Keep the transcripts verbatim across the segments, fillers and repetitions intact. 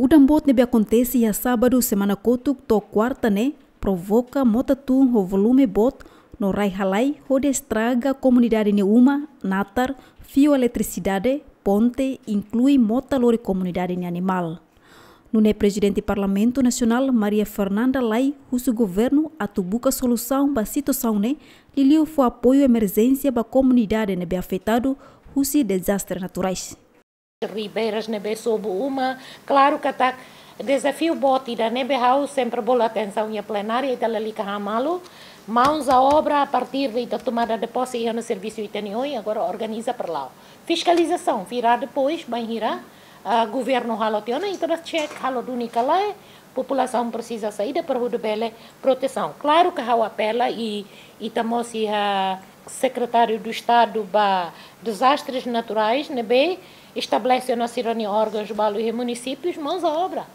Udan boot ne'ebé akontese iha sábadu semana kotuk to'o kuarta ne'e provoka mota tun ho volume boot no rai halai hodi estraga komunidade nia uma, natar, fiu eletrisidade, ponte, inklui mota lori komunidade nia animál. Nune'e Prezidente Parlamentu Nasionál Maria Fernanda Lay husu governu atu buka solusaun ba situasaun ne'e, liuliu fó apoiu emerjénsia ba komunidade ne'ebé afetadu husi dezastre naturais. Ribeiras ne'ebé sobu uma, klaru katak dezafiu boot ida ne'ebé ha'u sempre bolu atensaun iha plenária, ita lalika han malu, mãos à obra a partir de ita tomada de posse iha ona servisu ita-nia oin, agora organiza para la'o. Fiskalizasaun, virá depois, bainhira, ah, governu halo tiha ona, ita bá check, halo duni ka lae, populasaun presiza saida para hodi bele protesaun. Klaru ke ha'u apela i, ita mós iha Sekretáriu do Estadu ba Dezastres Naturais, ne'ebé estabelese ona sira-nia órgãos balu iha munisípius, mãos à obra.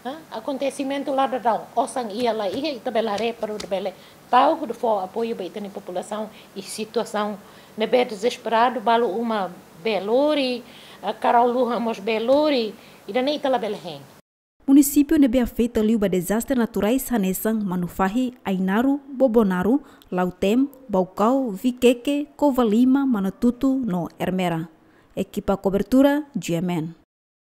Hã? Akontesimentu la dadaun, osan iha la iha, ita bele haree para hodi bele tau, hodi fó apoiu ba ita-nia populasaun iha situasaun ne'ebé dezesperadu, balu uma bee lori, ah, karau-luhan mós bee lori, ida-ne'e ita labele hein. Munisípiu ne'ebé afeta liu ba dezastre naturais hanesan Manufahi, Ainaro, Bobonaro, Lautém, Baucau, Viqueque, Covalima, Manatuto no Ermera. Ekipa kobertura, G M N.